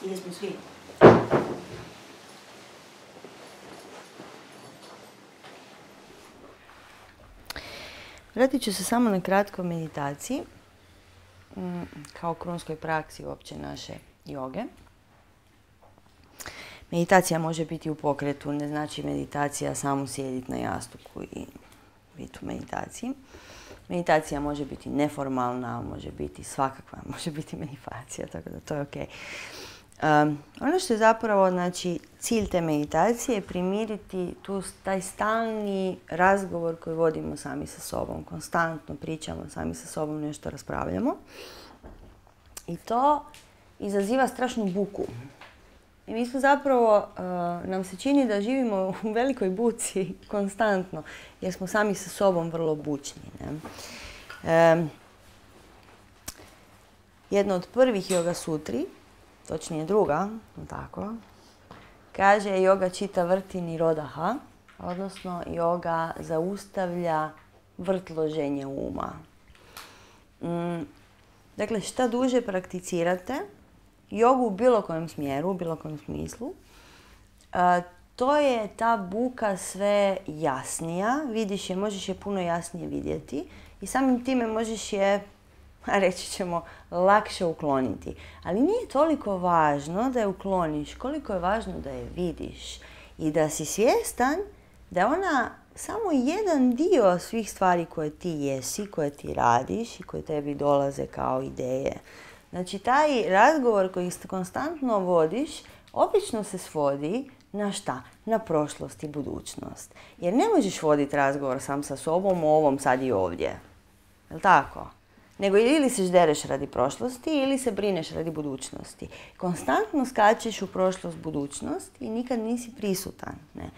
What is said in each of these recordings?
I jesmo svi. Vratit ću se samo na kratko meditaciji, kao krunskoj praksi uopće naše joge. Meditacija može biti u pokretu, ne znači meditacija samo sjediti na jastuku i biti u meditaciji. Meditacija može biti neformalna, može biti svakakva, može biti meditacija, tako da to je ok. Ono što je zapravo, znači, cilj te meditacije je primiriti taj stalni razgovor koji vodimo sami sa sobom. Konstantno pričamo sami sa sobom, nešto raspravljamo. I to izaziva strašnu buku. I mi smo zapravo, nam se čini da živimo u velikoj buci konstantno, jer smo sami sa sobom vrlo bučni. Ne? Jedna od prvih yoga sutri, točnije druga, tako, kaže yoga čita vrti nirodha, odnosno yoga zaustavlja vrtloženje uma. Dakle, šta duže prakticirate jogu u bilo kojem smjeru, u bilo kojem smislu, to je ta buka sve jasnija, vidiš je, možeš je puno jasnije vidjeti i samim time možeš je, reći ćemo, lakše ukloniti. Ali nije toliko važno da je ukloniš, koliko je važno da je vidiš i da si svjestan da je ona samo jedan dio svih stvari koje ti jesi, koje ti radiš i koje tebi dolaze kao ideje. Znači, taj razgovor koji konstantno vodiš, obično se svodi na šta? Na prošlost i budućnost. Jer ne možeš voditi razgovor sam sa sobom o ovom sad i ovdje. Je li tako? Nego ili se ždereš radi prošlosti ili se brineš radi budućnosti. Konstantno skačeš u prošlost, budućnost i nikad nisi prisutan. Ne?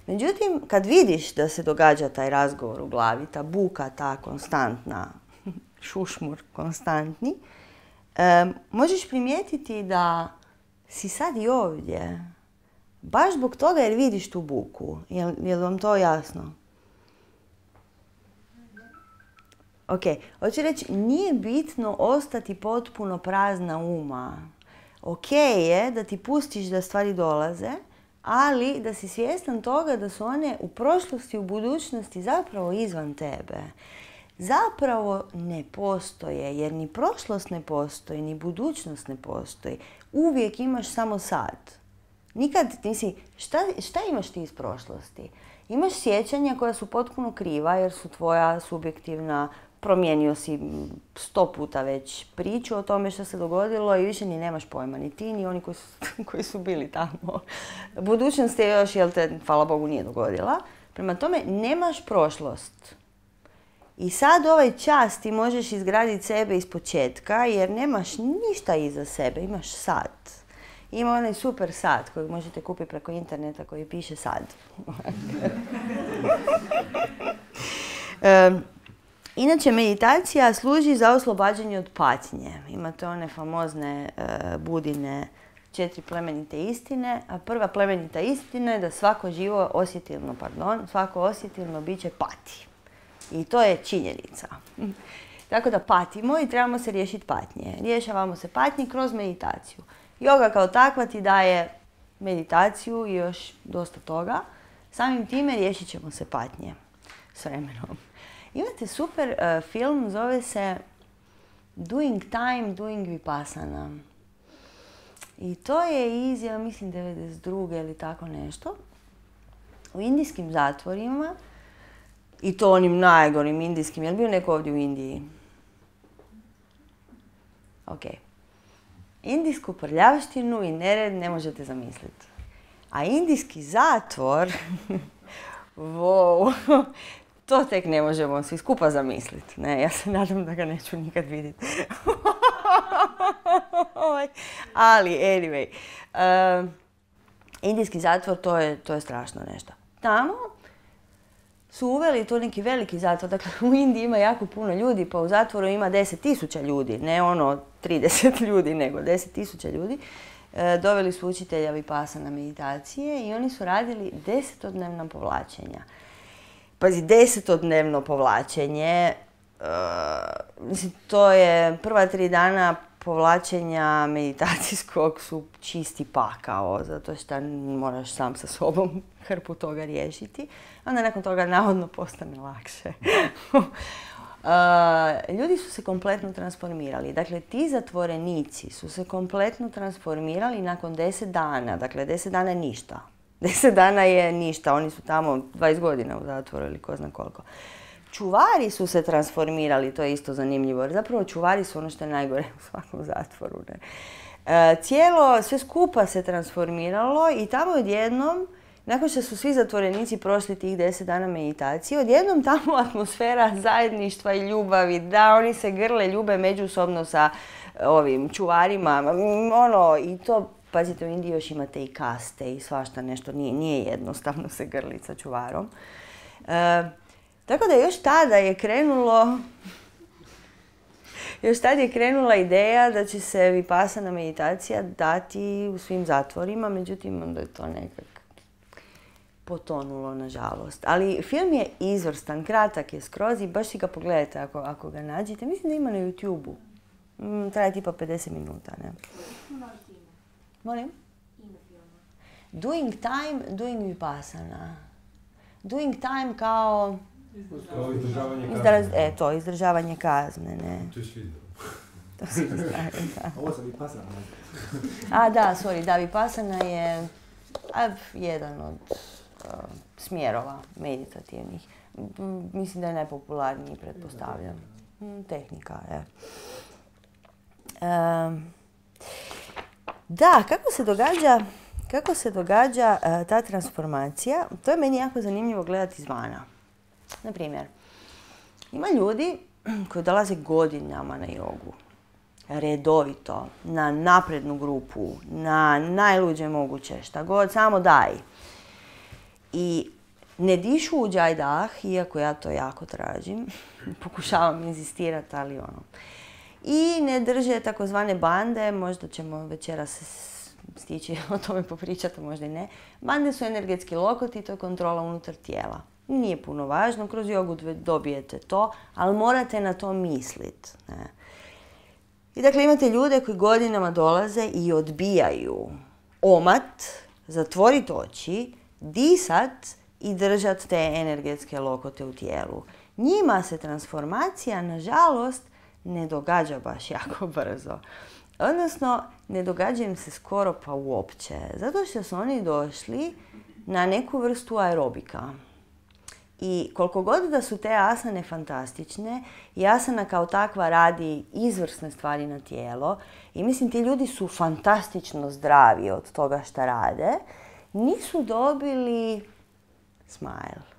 Međutim, kad vidiš da se događa taj razgovor u glavi, ta buka, ta konstantna, šušmur konstantni, možeš primijetiti da si sad i ovdje. Baš zbog toga jer vidiš tu buku. Je li vam to jasno? Ok, hoću reći, nije bitno ostati potpuno prazna uma. Ok je da ti pustiš da stvari dolaze, ali da si svjestan toga da su one u prošlosti, u budućnosti zapravo izvan tebe. Zapravo ne postoje, jer ni prošlost ne postoji, ni budućnost ne postoji. Uvijek imaš samo sad. Nikad nisi, šta imaš ti iz prošlosti? Imaš sjećanja koja su potpuno kriva jer su tvoja subjektivna, promijenio si 100 puta već priču o tome što se dogodilo i više ni nemaš pojma, ni ti, ni oni koji su bili tamo. Budućnost je još, jel te, hvala Bogu, nije dogodila. Prema tome, nemaš prošlost. I sad ovaj čas ti možeš izgraditi sebe iz početka jer nemaš ništa iza sebe, imaš sad. Ima onaj super sat kojeg možete kupiti preko interneta koji piše sad. Inače, meditacija služi za oslobađanje od patnje. Imate one famozne Budine 4 plemenite istine. A prva plemenita istina je da svako osjetilno biće pati. I to je činjenica. Tako da patimo i trebamo se riješiti patnje. Rješavamo se patnje kroz meditaciju. Yoga kao takva ti daje meditaciju i još dosta toga. Samim time riješit ćemo se patnje s vremenom. Imate super film, zove se Doing Time, Doing Vipassana. I to je iz, ja mislim, 92. ili tako nešto. U indijskim zatvorima, i to onim najgorim indijskim. Je li bio neko ovdje u Indiji? Ok. Indijsku prljavštinu i nered ne možete zamisliti. A indijski zatvor, wow, to tek ne možemo svi skupa zamisliti. Ne, ja se nadam da ga neću nikad vidjeti. Ali, anyway, indijski zatvor, to je strašno nešto. Tamo su uveli to neki veliki zatvor. Dakle, u Indiji ima jako puno ljudi, pa u zatvoru ima 10.000 ljudi. Ne ono 30 ljudi, nego 10.000 ljudi. Doveli su učitelja Vipassana meditacije i oni su radili 10-dnevna povlačenja. Pazi, 10-dnevno povlačenje, mislim, to je prva 3 dana povlačenja meditacijskog su čisti pakao, zato što moraš sam sa sobom hrpu toga riješiti. Onda nakon toga navodno postane lakše. Ljudi su se kompletno transformirali. Dakle, ti zatvorenici su se kompletno transformirali nakon 10 dana. Dakle, 10 dana je ništa. 10 dana je ništa. Oni su tamo 20 godina u zatvoru ili ko zna koliko. Čuvari su se transformirali, to je isto zanimljivo. Jer zapravo čuvari su ono što je najgore u svakom zatvoru. Ne? Sve skupa se transformiralo i tamo odjednom, nakon što su svi zatvorenici prošli tih 10 dana meditacije, odjednom tamo atmosfera zajedništva i ljubavi, da oni se grle, ljube međusobno sa ovim čuvarima. I to, pazite, u Indiji još imate i kaste i svašta nešto, nije jednostavno se grliti sa čuvarom. Tako da još tada je krenula ideja da će se vipassana meditacija dati u svim zatvorima, međutim onda je to nekak potonulo, nažalost. Ali film je izvrstan, kratak je skroz i baš si ga pogledajte ako ga nađete. Mislim da ima na YouTube-u. Traje tipa 50 minuta, ne? Molim? Doing time, doing vipassana. Doing time kao izdržavanje kazne. Izdržavanje kazne, ne. To je svi. To si izdržavanje, da. Ovo sam vipassana. Vipassana je jedan od smjerova meditativnih. Mislim da je najpopularniji, pretpostavljam. Tehnika, je. Da, kako se događa ta transformacija? To je meni jako zanimljivo gledati izvana. Naprimjer, ima ljudi koji dolaze godinama na jogu, redovito, na naprednu grupu, na najluđe moguće, šta god, samo daj. I ne dišu u džajdah, iako ja to jako tražim, pokušavam inzistirati, ali I ne drže takozvane bande, možda ćemo večeras stići o tome popričati, možda i ne. Bande su energetski lokoti, to je kontrola unutar tijela. Nije puno važno, kroz jogu dobijete to, ali morate na to misliti. I dakle imate ljude koji godinama dolaze i odbijaju omat, zatvoriti oči, disat i držat te energetske lokote u tijelu. Njima se transformacija, nažalost, ne događa baš jako brzo. Odnosno, ne događa im se skoro pa uopće. Zato što su oni došli na neku vrstu aerobika. I koliko god da su te asane fantastične, i asana kao takva radi izvrsne stvari na tijelo, i mislim ti ljudi su fantastično zdravi od toga šta rade, nisu dobili smile.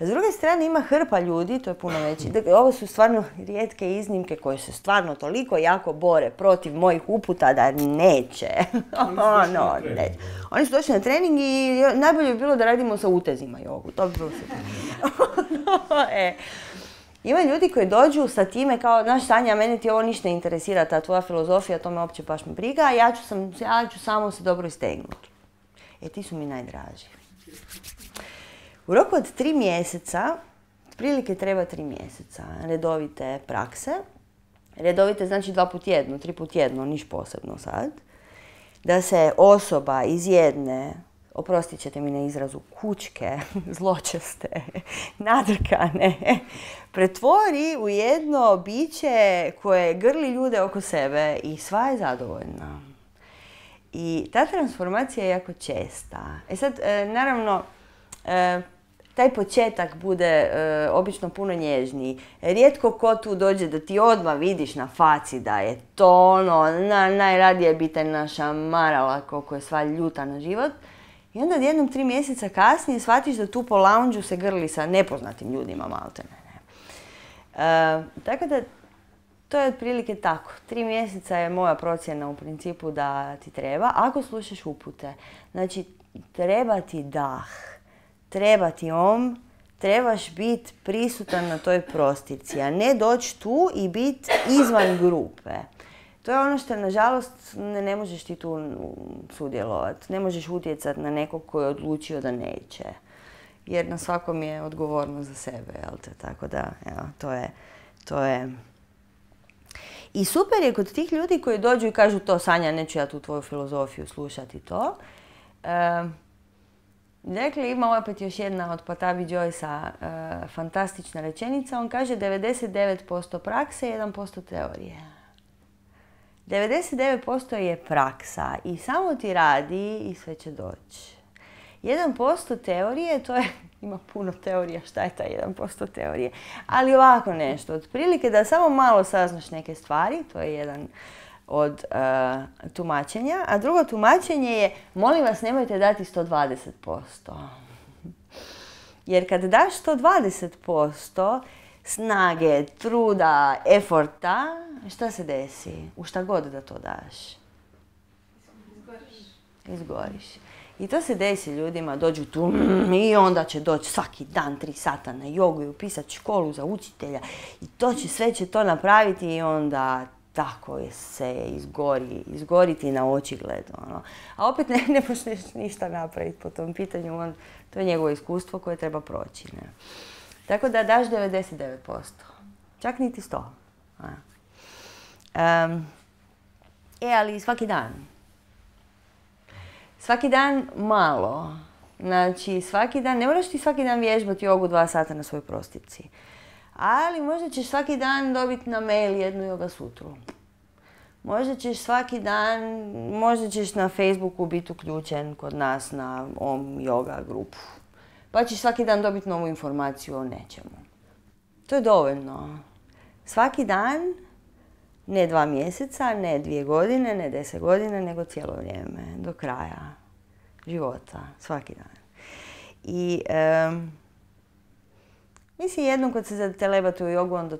S druge strane ima hrpa ljudi, to je puno veći. Ovo su stvarno rijetke iznimke koje se stvarno toliko jako bore protiv mojih uputa da neće. Oni su došli na trening i najbolje bi bilo da radimo sa utezima jogu. To bi bilo Ima ljudi koji dođu sa time kao, znaš Sanja, mene ti ovo ništa ne interesira, ta tvoja filozofija, to me uopće baš me briga, a ja ću samo se dobro istegnuti. Ti su mi najdraži. U roku od 3 mjeseca, otprilike treba 3 mjeseca, redovite prakse. Redovite znači 2 puta tjedno, 3 puta tjedno, niš posebno sad. Da se osoba iz jedne, oprostit ćete mi na izrazu, kućke, zločeste, nadrkane, pretvori u jedno biće koje grli ljude oko sebe i sva je zadovoljna. I ta transformacija je jako česta. Sad, naravno, taj početak bude obično puno nježniji. Rijetko ko tu dođe da ti odmah vidiš na faci da je to najradije bi te našamarala koliko je sva ljuta na život. I onda jednom 3 mjeseca kasnije shvatiš da tu po lounge-u se grli sa nepoznatim ljudima maltene. Tako da to je otprilike tako. 3 mjeseca je moja procjena u principu da ti treba, ako slušaš upute. Znači, treba ti dah. Treba ti trebaš biti prisutan na toj prostici, a ne doći tu i biti izvan grupe. To je ono što, nažalost, ne možeš ti tu sudjelovati. Ne možeš utjecati na nekog koji je odlučio da neće. Jer na svakom je odgovornost za sebe, jel te? Tako da, evo, to je. I super je kod tih ljudi koji dođu i kažu to, Sanja, neću ja tu tvoju filozofiju slušati to. Dakle, ima opet još jedna od Patabi Joycea fantastična rečenica. On kaže 99% prakse, 1% teorije. 99% je praksa i samo ti radi i sve će doći. 1% teorije, to je, ima puno teorija, šta je taj 1% teorije, ali ovako nešto, otprilike da samo malo saznaš neke stvari, to je jedan od tumačenja, a drugo tumačenje je, molim vas, nemojte dati 120%. Jer kad daš 120% snage, truda, eforta, šta se desi? U šta god da to daš? Izgoriš. I to se desi ljudima, dođu tu i onda će doći svaki dan 3 sata na jogu i upisati školu za učitelja i to će, sve će to napraviti i onda tako se izgoriti na očigled. Ono. A opet ne možeš ništa napraviti po tom pitanju, to je njegovo iskustvo koje treba proći. Ne? Tako da daš 99%, čak niti 100%. Ali svaki dan. Svaki dan malo. Znači, svaki dan, ne moraš ti svaki dan vježbati jogu 2 sata na svojoj prostici. Ali možda ćeš svaki dan dobiti na mail jednu joga sutru. Možda ćeš svaki dan, možda ćeš na Facebooku biti uključen kod nas na Om Yoga grupu. Pa ćeš svaki dan dobiti novu informaciju o nečemu. To je dovoljno. Svaki dan, ne 2 mjeseca, ne 2 godine, ne 10 godina, nego cijelo vrijeme, do kraja života, svaki dan. I mislim, jednom kad se zatelebate u jogu, onda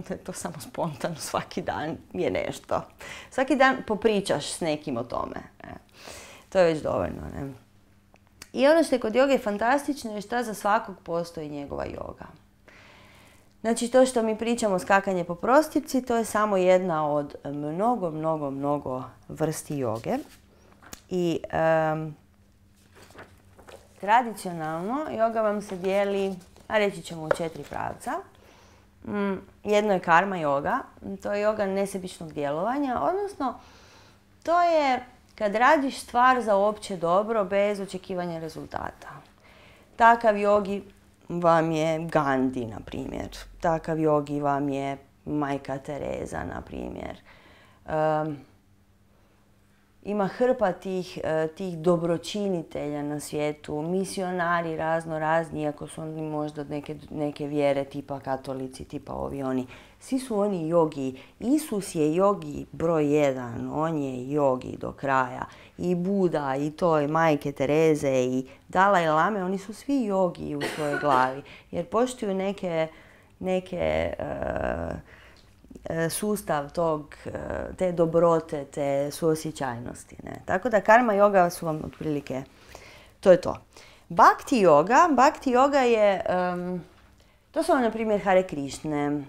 je to samo spontano, svaki dan je nešto. Svaki dan popričaš s nekim o tome. To je već dovoljno. Ne? I ono što je kod joge fantastično je šta za svakog postoji njegova joga. Znači, to što mi pričamo skakanje po prostipci, to je samo jedna od mnogo vrsti joge. I tradicionalno joga vam se dijeli, a reći ćemo, u 4 pravca. Jedno je karma joga, to je joga nesebičnog djelovanja, odnosno to je kad radiš stvar za opće dobro bez očekivanja rezultata. Takav jogi vam je Gandhi, na primjer. Takav jogi vam je Majka Tereza, na primjer. Ima hrpa tih dobročinitelja na svijetu, misionari razni, iako su oni možda neke vjere tipa katolici, tipa ovi oni. Svi su oni jogi. Isus je jogi broj 1, on je jogi do kraja. I Buda, i to, i Majke Tereze, i Dalaj Lame, oni su svi jogi u svojoj glavi. Jer poštuju neke sustav te dobrote, te suosjećajnosti. Ne? Tako da karma joga su vam otprilike, to je to. Bhakti joga je, to su vam na primjer Hare Krišne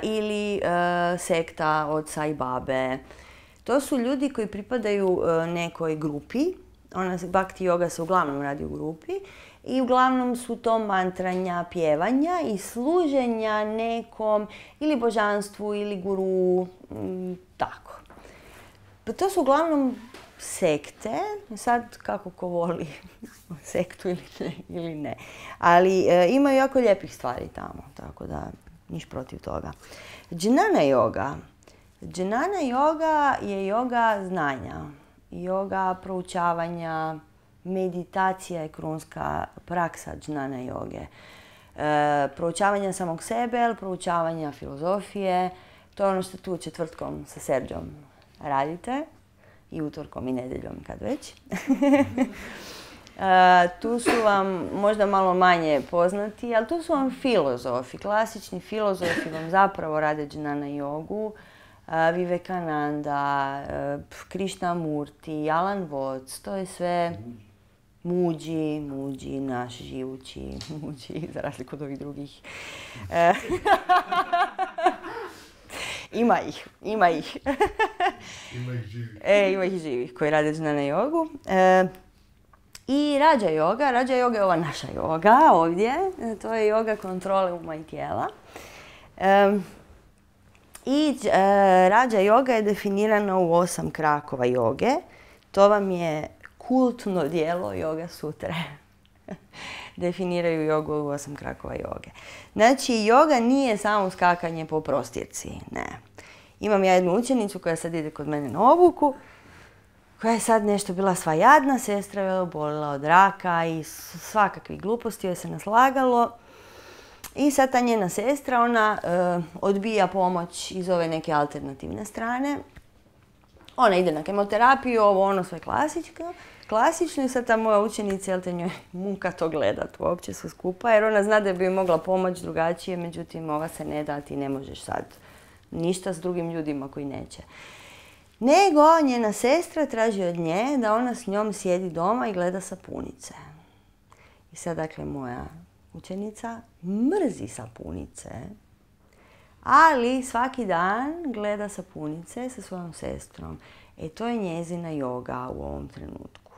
ili sekta od Sai Babe. To su ljudi koji pripadaju nekoj grupi. Bhakti joga se uglavnom radi u grupi. I uglavnom su to mantranja, pjevanja i služenja nekom ili božanstvu ili guru, tako. Pa to su uglavnom sekte, sad kako ko voli sektu ili ne. Ali imaju jako lijepih stvari tamo, tako da niš protiv toga. Jnana joga je joga znanja, joga proučavanja. Meditacija je krunska praksa džnana joge. Proučavanja samog sebe, ali proučavanja filozofije. To je ono što tu četvrtkom sa Serđom radite. I utorkom i nedjeljom, kad već. Tu su vam možda malo manje poznati, ali tu su vam filozofi. Klasični filozofi vam zapravo rade džnana jogu. Vivekananda, Krishnamurti, Alan Watts, to je sve Muđi, naš živući Muđi, za razliku od ovih drugih. Ima ih. Ima ih živih. Ima ih živih koji rade džnana jogu. I Rađa joga je ova naša joga ovdje. To je joga kontrole uma i tijela. I Rađa joga je definirana u 8 krakova joge. To vam je kultno djelo Yoga Sutre. Definiraju jogu u 8 krakova joge. Znači, joga nije samo skakanje po prostirci, ne. Imam ja jednu učenicu koja sad ide kod mene na obuku, koja je sad nešto bila sva jadna, sestra je obolila od raka i svakakvih gluposti joj se naslagalo. I sad ta njena sestra, ona odbija pomoć iz ove neke alternativne strane. Ona ide na kemoterapiju, ovo ono sve klasično i sad ta moja učenica, jel te, njoj muka to gledat uopće sve skupa, jer ona zna da bi joj mogla pomoći drugačije, međutim ova se ne da, ti ne možeš sad ništa s drugim ljudima koji neće. Nego njena sestra traži od nje da ona s njom sjedi doma i gleda sapunice. I sad, dakle, moja učenica mrzi sapunice, ali svaki dan gleda sapunice sa svojom sestrom. To je njezina joga u ovom trenutku.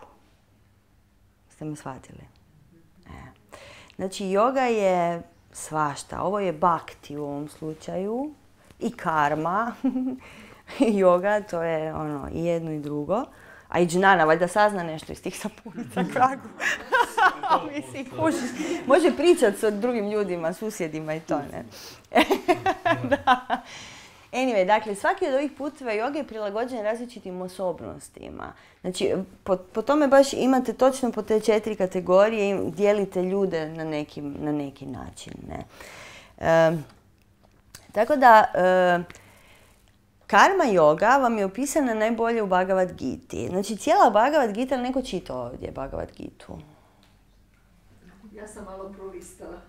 Ste me shvatili? Znači, joga je svašta. Ovo je bhakti u ovom slučaju i karma. Joga, to je ono, i jedno i drugo. A i džnana, valjda sazna nešto iz tih sapunica kragu. Mislim, može pričati sa drugim ljudima, susjedima i to, ne? Da. Anyway, dakle, svaki od ovih puteva joge je prilagođen različitim osobnostima. Znači, po tome baš imate točno po te 4 kategorije i dijelite ljude na neki način, ne? Tako da, karma joga vam je opisana najbolje u Bhagavad Giti. Znači, cijela Bhagavad Gita, ali neko čita ovdje Bhagavad Gitu? Ja sam malo prolistala.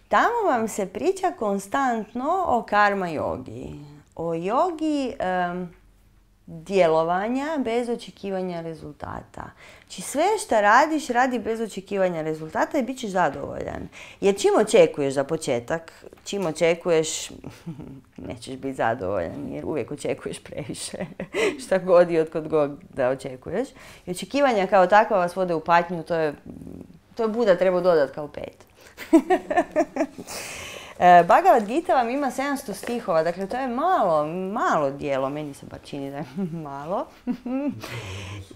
Tamo vam se priča konstantno o karma jogi. O jogi djelovanja bez očekivanja rezultata. Znači, sve što radiš, radi bez očekivanja rezultata i bit ćeš zadovoljan. Jer čim očekuješ za početak, čim očekuješ, nećeš biti zadovoljan jer uvijek očekuješ previše. Šta god i otkud god da očekuješ. I očekivanja kao takva vas vode u patnju, to je Buda treba dodati kao 5. Bhagavad Gita vam ima 700 stihova, dakle to je malo djelo, meni se bar čini da je malo.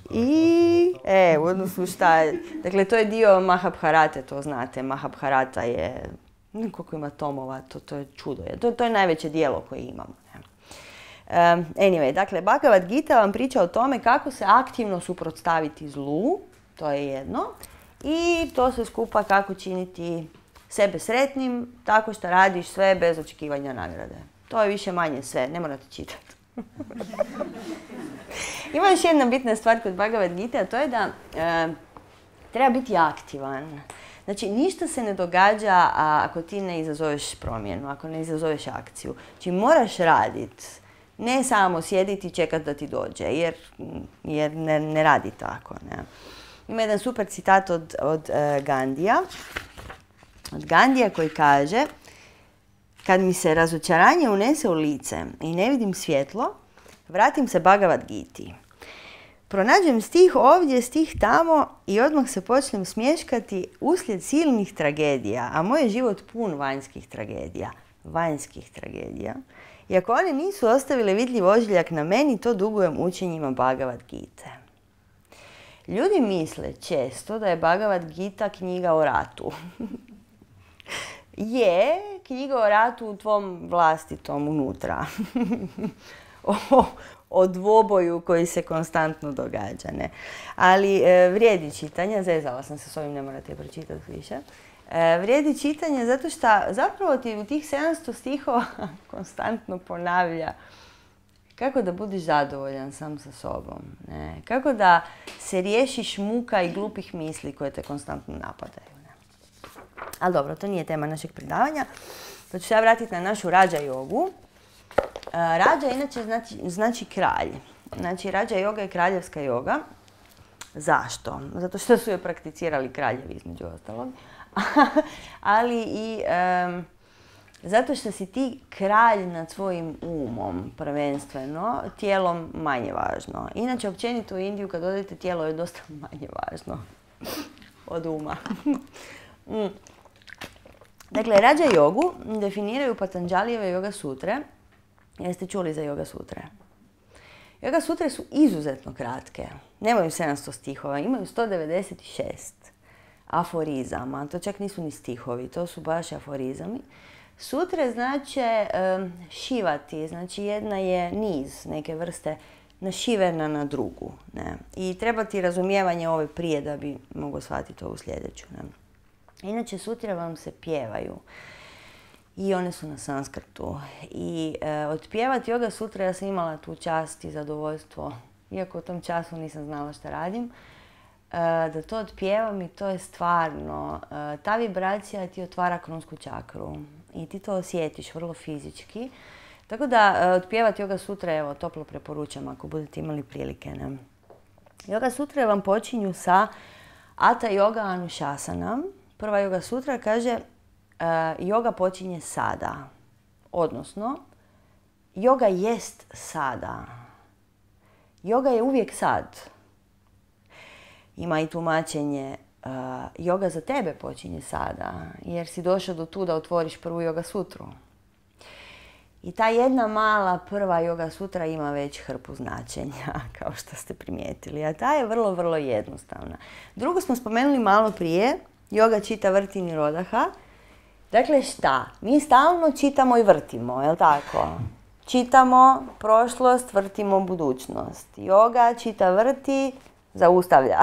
I, u odnosu šta je, dakle to je dio Mahabharate, to znate, Mahabharata je, koliko ima tomova, to je čudo, to je najveće djelo koje imamo. Anyway, dakle Bhagavad Gita vam priča o tome kako se aktivno suprotstaviti zlu, to je jedno, i to sve skupa kako činiti sebe sretnim, tako što radiš sve bez očekivanja nagrade. To je više manje sve, ne morate čitati. Ima još jedna bitna stvar kod Bhagavad Gita, a to je da treba biti aktivan. Znači, ništa se ne događa ako ti ne izazoveš promjenu, ako ne izazoveš akciju. Znači, moraš raditi, ne samo sjediti i čekati da ti dođe, jer ne radi tako. Ne? Ima jedan super citat od Gandija. Od Gandija koji kaže: kad mi se razočaranje unese u lice i ne vidim svjetlo, vratim se Bhagavad Giti. Pronađem stih ovdje, stih tamo i odmah se počnem smješkati uslijed silnih tragedija, a moj je život pun vanjskih tragedija. I ako one nisu ostavile vidljiv ožiljak na meni, to dugujem učenjima Bhagavad Gite. Ljudi misle često da je Bhagavad Gita knjiga o ratu. Je knjiga o ratu u tvom vlastitom unutra. O dvoboju koji se konstantno događa. Ne? Ali vrijedi čitanja, zezala sam se s ovim, ne morate pročitati više. Vrijedi čitanje zato što zapravo ti u tih 700 stihova konstantno ponavlja kako da budiš zadovoljan sam sa sobom. Ne? Kako da se riješiš muka i glupih misli koje te konstantno napadaju. Ne? Ali dobro, to nije tema našeg predavanja. Pa ću se ja vratiti na našu Rađa jogu. Rađa inače znači kralj. Znači, Rađa joga je kraljevska joga. Zašto? Zato što su je prakticirali kraljevi, između ostalog. Ali i zato što si ti kralj nad svojim umom, prvenstveno, tijelom manje važno. Inače, općenito u Indiju kad odete, tijelo je dosta manje važno od uma. Dakle, Rađa jogu definiraju Patanđalijeve Yoga sutre. Jeste čuli za Yoga sutre? Yoga sutre su izuzetno kratke. Nemaju 700 stihova, imaju 196 aforizama. To čak nisu ni stihovi, to su baš aforizami. Sutre znače šivati, znači jedna je niz neke vrste našivena na drugu. Ne? I treba ti razumijevanje ove prije da bi mogao shvatiti ovu sljedeću. Ne? Inače, sutre vam se pjevaju i one su na sanskrtu. I otpjevati Yoga sutra, ja sam imala tu čast i zadovoljstvo, iako u tom času nisam znala šta radim, da to otpjevam i to je stvarno, ta vibracija ti otvara kronsku čakru i ti to osjetiš vrlo fizički. Tako da otpjevati Yoga sutra, evo, toplo preporučam ako budete imali prilike. Ne? Yoga sutra vam počinju sa Ata Yoga Anušasana. Prva Yoga sutra kaže yoga počinje sada, odnosno yoga jest sada. Yoga je uvijek sad. Ima i tumačenje yoga za tebe počinje sada, jer si došao do tu da otvoriš prvu Yoga sutru. I ta jedna mala prva Yoga sutra ima već hrpu značenja, kao što ste primijetili. A ta je vrlo, vrlo jednostavna. Drugo smo spomenuli malo prije, Yoga čita vrti nirodha. Dakle, šta? Mi stalno čitamo i vrtimo, je li tako? Čitamo prošlost, vrtimo budućnost. Yoga čita vrti, zaustavlja.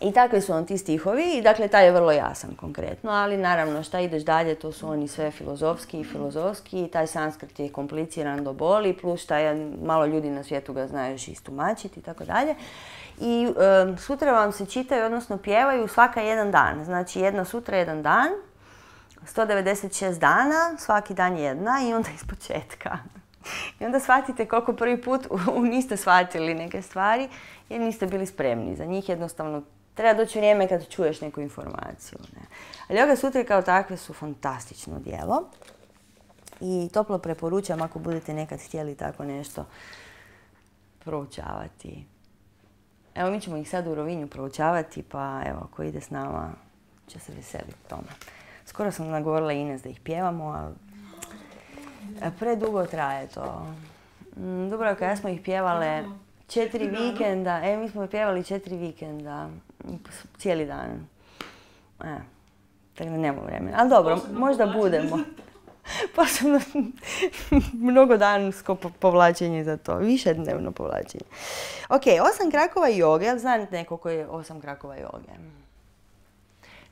I takvi su on ti stihovi i dakle taj je vrlo jasan konkretno, ali naravno šta ideš dalje to su oni sve filozofski i taj sanskrit je kompliciran do boli, plus šta je malo ljudi na svijetu ga znaju još istumačiti i tako dalje. I sutra vam se čitaju, odnosno pjevaju svaka jedan dan, znači jedna sutra jedan dan, 196 dana, svaki dan jedna i onda ispočetka. I onda shvatite koliko prvi put niste shvatili neke stvari jer niste bili spremni za njih, jednostavno treba doći vrijeme kad čuješ neku informaciju. Ne? Ali Yoga sutre kao takve su fantastično djelo i toplo preporučam ako budete nekad htjeli tako nešto proučavati. Evo mi ćemo ih sad u Rovinju proučavati pa evo ako ide s nama će se veseliti tome. Skoro sam nagovorila Ines da ih pjevamo, ali predugo traje to. Dubravka, ja smo ih pjevale 4 vikenda. Mi smo pjevali 4 vikenda. Cijeli dan. Tako da nemamo vremena. Ali dobro, možda budemo. Posebno mnogo dansko povlačenje za to. Više dnevno povlačenje. Ok, 8 krakova joge. Jel znate neko koji je 8 krakova joge?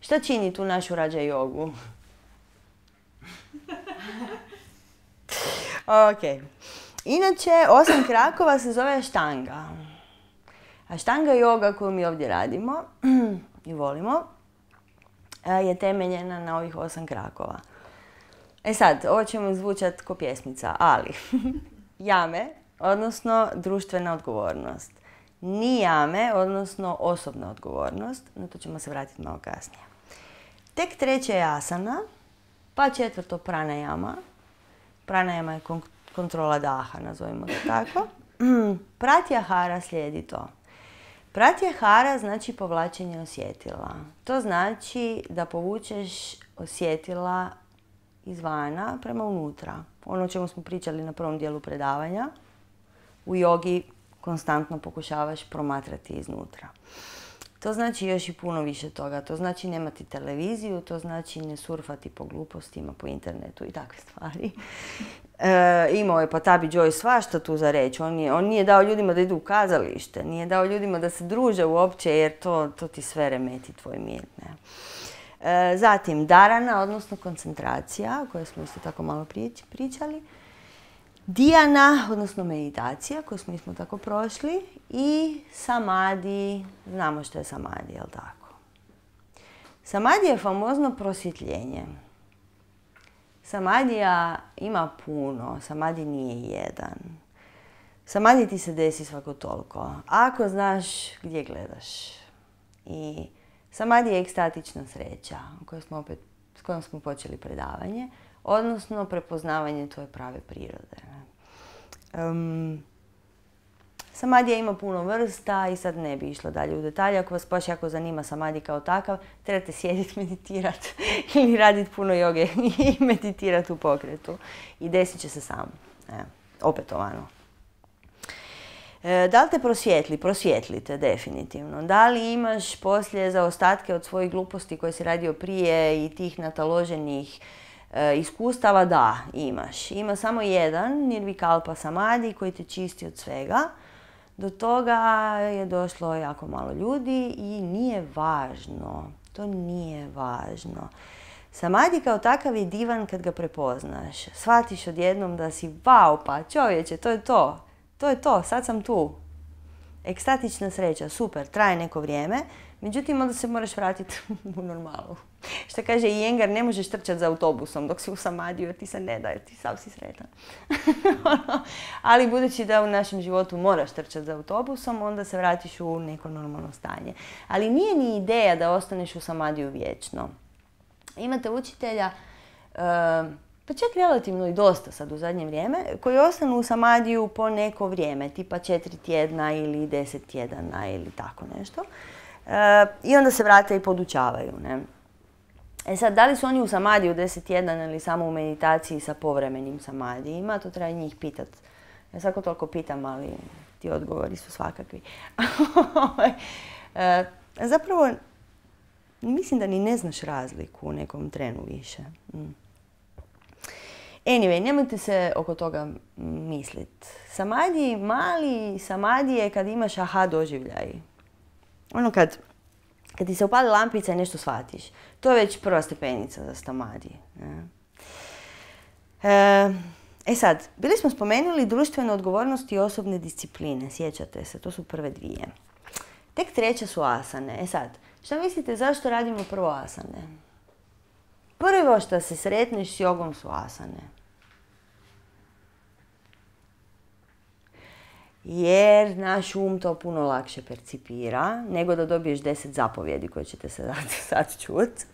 Šta čini tu našu Rađa jogu? Ok. Inače, 8 krakova se zove Ashtanga. Ashtanga yoga koju mi ovdje radimo i volimo je temeljena na ovih 8 krakova. E sad, ovo ćemo zvučati ko pjesmica, ali jame, odnosno društvena odgovornost. Nijame, odnosno osobna odgovornost, na to ćemo se vratiti malo kasnije. Tek treće je asana, pa četvrto pranayama. Pranayama je kontrola daha, nazovimo to tako. Pratyahara slijedi to. Pratyahara znači povlačenje osjetila. To znači da povučeš osjetila izvana prema unutra. Ono o čemu smo pričali na prvom dijelu predavanja. U jogi konstantno pokušavaš promatrati iznutra. To znači još i puno više toga. To znači nemati televiziju, to znači ne surfati po glupostima, po internetu i takve stvari. Imao je Patabi Joy svašta tu za reći. On nije dao ljudima da idu u kazalište, nije dao ljudima da se druže uopće jer to ti sve remeti tvoj mir. Ne? Zatim dharana, odnosno koncentracija, o kojoj smo isto tako malo pričali. Dhyana, odnosno meditacija, koju smo isto tako prošli. I samadhi, znamo što je samadhi, jel tako? Samadhi je famozno prosvjetljenje. Samadhija ima puno, samadhi nije jedan. Samadhi ti se desi svako toliko, ako znaš gdje gledaš. I samadhi je ekstatična sreća, s kojom smo počeli predavanje, odnosno prepoznavanje tvoje prave prirode. Samadija ima puno vrsta i sad ne bi išlo dalje u detalje. Ako vas baš jako zanima samadhi kao takav, trebate sjediti, meditirati ili raditi puno joge i meditirati u pokretu. I desit će se samo. Opetovano. Da li te prosvjetli? Prosvjetlite, definitivno. Da li imaš poslije zaostatke od svojih gluposti koje si radio prije i tih nataloženih iskustava? Da, imaš. Ima samo jedan nirvikalpa samadhi koji te čisti od svega. Do toga je došlo jako malo ljudi i nije važno. To nije važno. Samadhi kao takav je divan kad ga prepoznaš. Shvatiš odjednom da si, wow, pa čovječe, to je to. To je to, sad sam tu. Ekstatična sreća, super, traje neko vrijeme, međutim onda se moraš vratiti u normalu. Što kaže Iyengar, ne možeš trčati za autobusom dok si u samadiju jer ti se ne da, jer ti sav si sretan. Ali budući da u našem životu moraš trčati za autobusom, onda se vratiš u neko normalno stanje. Ali nije ni ideja da ostaneš u samadiju vječno. Imate učitelja, pa čak relativno i dosta sad u zadnje vrijeme, koji ostanu u samadiju po neko vrijeme, tipa 4 tjedna ili 10 tjedana ili tako nešto. I onda se vrate i podučavaju. Ne? Sad, da li su oni u samadiju 10 tjedana ili samo u meditaciji sa povremenim samadijima, to treba njih pitat. Ja svako toliko pitam, ali ti odgovori su svakakvi. Zapravo, mislim da ni ne znaš razliku u nekom trenu više. Anyway, nemojte se oko toga misliti. Samadhi, mali samadhi je kad imaš aha doživljaj. Kad ti se upali lampica i nešto shvatiš. To je već prva stepenica za samadhi. Sad, bili smo spomenuli društvenu odgovornost i osobne discipline. Sjećate se, to su prve dvije. Tek treća su asane. Sad, šta mislite zašto radimo prvo asane? Prvo što se sretneš s jogom su asane. Jer naš um to puno lakše percipira nego da dobiješ 10 zapovjedi koje ćete se sad čuti.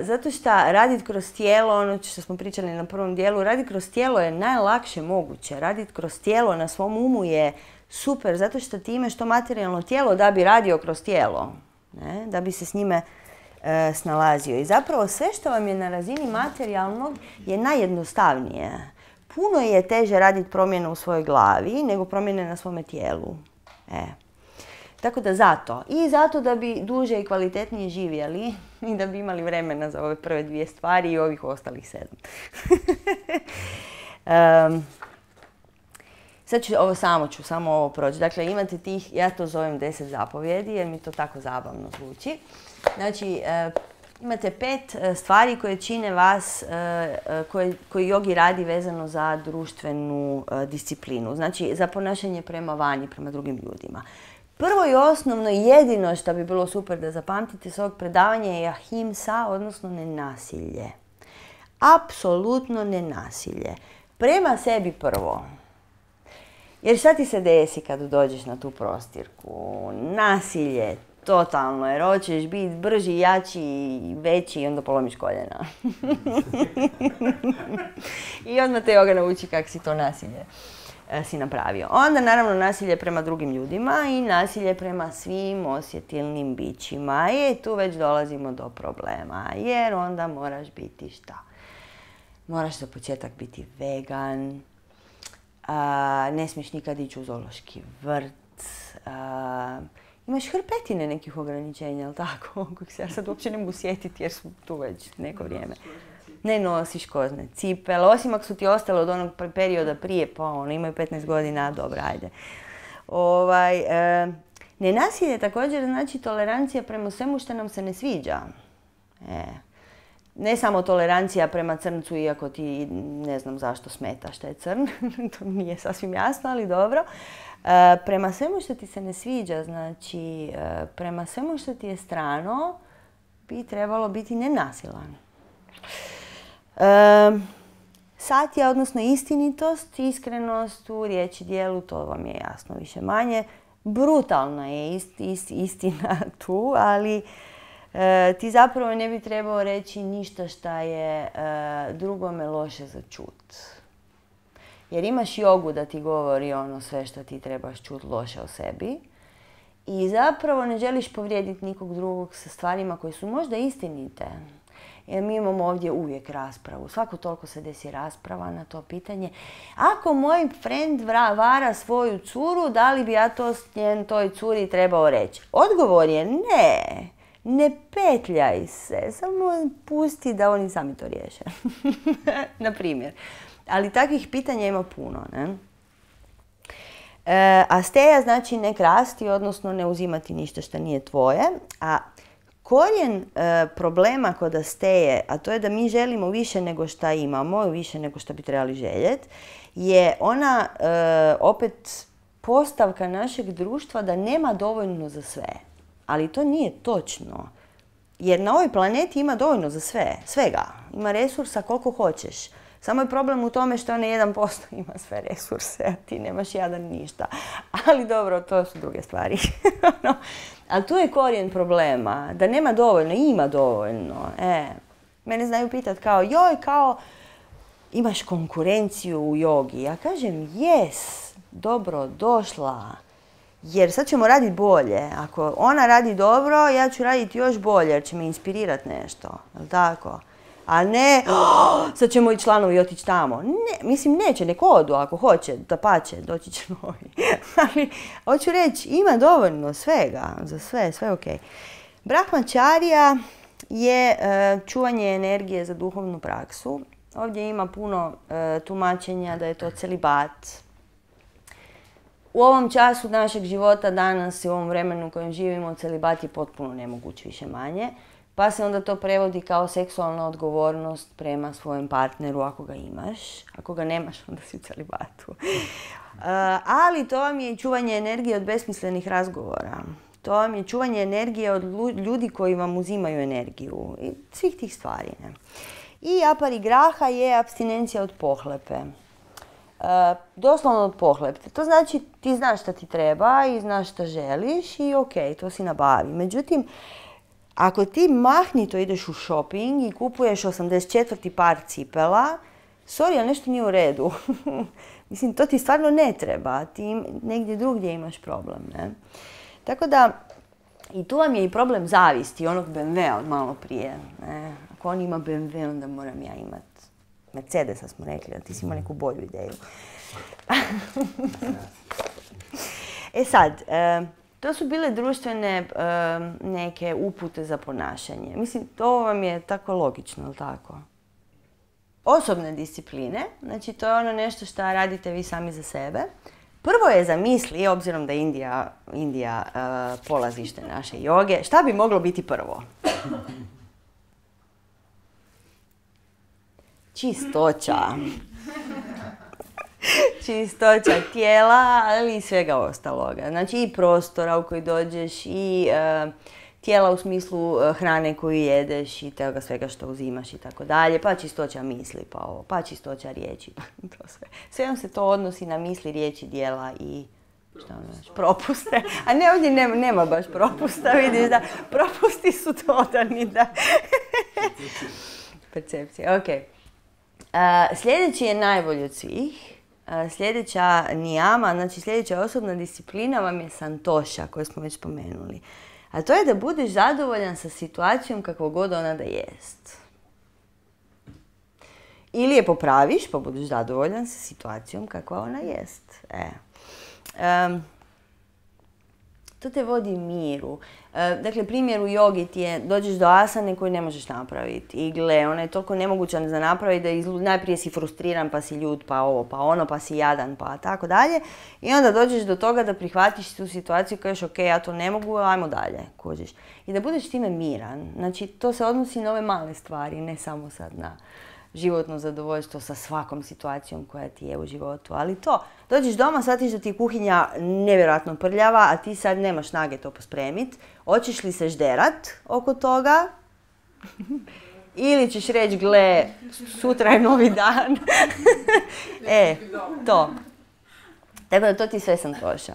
Zato što raditi kroz tijelo, ono što smo pričali na prvom dijelu, raditi kroz tijelo je najlakše moguće. Raditi kroz tijelo na svom umu je super, zato što ti imaš to materijalno tijelo da bi radio kroz tijelo, ne? Da bi se s njime snalazio. I zapravo sve što vam je na razini materijalnog je najjednostavnije. Puno je teže raditi promjene u svojoj glavi nego promjene na svome tijelu. Tako da zato. I zato da bi duže i kvalitetnije živjeli i da bi imali vremena za ove prve dvije stvari i ovih ostalih 7. Sad ću samo ovo proći. Dakle, imate tih, ja to zovem 10 zapovjedi jer mi to tako zabavno zvuči. Znači, imate 5 stvari koje čine vas, koji jogi radi vezano za društvenu disciplinu. Znači, za ponašanje prema vani, prema drugim ljudima. Prvo i osnovno i jedino što bi bilo super da zapamtite s ovog predavanja je ahimsa, odnosno nenasilje. Apsolutno nenasilje. Prema sebi prvo. Jer šta ti se desi kad dođeš na tu prostirku? Nasilje, totalno, jer hoćeš biti brži, jači, veći i onda polomiš koljena. I odmah te joga nauči kako si to nasilje si napravio. Onda naravno nasilje prema drugim ljudima i nasilje prema svim osjetilnim bićima. I tu već dolazimo do problema, jer onda moraš biti šta? Moraš za početak biti vegan, ne smiješ nikad ići u zoološki vrt, imaš hrpetine nekih ograničenja, ali tako, kojih se ja sad uopće ne mogu sjetiti jer su tu već neko vrijeme. Ne nosiš kožne cipele, osim ako su ti ostale od onog perioda prije, pa ono, imaju 15 godina, dobro, ajde. Nenasilje također znači tolerancija prema svemu što nam se ne sviđa. Ne samo tolerancija prema crncu, iako ti ne znam zašto smeta što je crn, to nije sasvim jasno, ali dobro. Prema svemu što ti se ne sviđa, znači prema svemu što ti je strano, bi trebalo biti nenasilan. Satja, odnosno istinitost, iskrenost u riječi, djelu, to vam je jasno više manje. Brutalna je istina tu, ali ti zapravo ne bi trebao reći ništa šta je drugome loše za čut. jer imaš jogu da ti govori ono sve što ti trebaš čuti loše o sebi i zapravo ne želiš povrijediti nikog drugog sa stvarima koje su možda istinite. Jer mi imamo ovdje uvijek raspravu. Svako toliko se desi rasprava na to pitanje. Ako moj friend vara svoju curu, da li bi ja to toj curi trebao reći? Odgovor je ne. Ne petljaj se. Samo pusti da oni sami to riješe. Na primjer. Ali takvih pitanja ima puno, ne? A steja znači ne krasti, odnosno ne uzimati ništa što nije tvoje. A korijen problema kod steje, a to je da mi želimo više nego što imamo, više nego što bi trebali željeti, je ona opet postavka našeg društva da nema dovoljno za sve. Ali to nije točno. Jer na ovoj planeti ima dovoljno za sve, svega. Ima resursa koliko hoćeš. Samo je problem u tome što onaj 1% ima sve resurse, a ti nemaš jadan ništa. Ali dobro, to su druge stvari. Ali tu je korijen problema, da nema dovoljno, ima dovoljno. Mene znaju pitati kao, imaš konkurenciju u jogi. Ja kažem, jes, dobro, došla. Jer sad ćemo raditi bolje. Ako ona radi dobro, ja ću raditi još bolje, jer će me inspirirati nešto. Jel' tako? A ne, sad ćemo i članovi otići tamo. Ne, mislim, neće, nek odu ako hoće, dapače, doći će novi. Ali, hoću reći, ima dovoljno svega, za sve ok. Brahmačarija je čuvanje energije za duhovnu praksu. Ovdje ima puno tumačenja da je to celibat. U ovom času našeg života danas i u ovom vremenu u kojem živimo, celibat je potpuno nemoguć više manje. Pa se onda to prevodi kao seksualna odgovornost prema svojem partneru ako ga imaš. Ako ga nemaš, onda si u celibatu. Ali to vam je i čuvanje energije od besmislenih razgovora. To vam je čuvanje energije od ljudi koji vam uzimaju energiju. I svih tih stvari. Ne? I aparigraha je apstinencija od pohlepe. Doslovno od pohlepe. To znači ti znaš šta ti treba i znaš šta želiš i ok, to si nabavi. Međutim, ako ti mahnito ideš u shopping i kupuješ 84. par cipela, sorry, ali nešto nije u redu. Mislim, to ti stvarno ne treba. Ti negdje drugdje imaš problem, ne? Tako da, i tu vam je i problem zavisti, onog BMW-a od malo prije. Ne? Ako on ima BMW, onda moram ja imat Mercedesa, smo rekli, da ti si imao neku bolju ideju. Sad, to su bile društvene neke upute za ponašanje. Mislim, to vam je tako logično, ali tako? Osobne discipline, znači to je ono nešto što radite vi sami za sebe. Prvo je za misli, obzirom da je Indija polazište naše joge, šta bi moglo biti prvo? Čistoća. Čistoća tijela, ali i svega ostaloga. Znači i prostora u koji dođeš i tijela u smislu hrane koju jedeš i toga svega što uzimaš i tako dalje. Pa čistoća misli, pa ovo, pa čistoća riječi. To sve. Sve vam se to odnosi na misli, riječi, djela i propuste. A ne, ovdje nema baš propusta, vidiš da propusti su dodani, da. Percepcija, ok. Sljedeći je najbolji od svih. Sljedeća nijama, znači sljedeća osobna disciplina vam je santoša, koju smo već spomenuli. A to je da budeš zadovoljan sa situacijom kakvo god ona da jest. Ili je popraviš pa budeš zadovoljan sa situacijom kakva ona jest. To te vodi miru. Dakle, primjer u jogi ti je, dođeš do asane koju ne možeš napraviti. I gle, ona je toliko nemoguća za napraviti da najprije si frustriran, pa si ljut, pa ovo, pa ono, pa si jadan, pa tako dalje. I onda dođeš do toga da prihvatiš tu situaciju i kažeš, ok, ja to ne mogu, ajmo dalje, kužiš. I da budeš time miran. Znači, to se odnosi na ove male stvari, ne samo sad na životno zadovoljstvo sa svakom situacijom koja ti je u životu. Ali to, dođeš doma, shvatiš da ti je kuhinja nevjerojatno prljava, a ti sad nemaš snage to pospremiti. Hoćeš li se žderat oko toga? Ili ćeš reći, gle, sutra je novi dan. To. Tako da to ti sve santoša.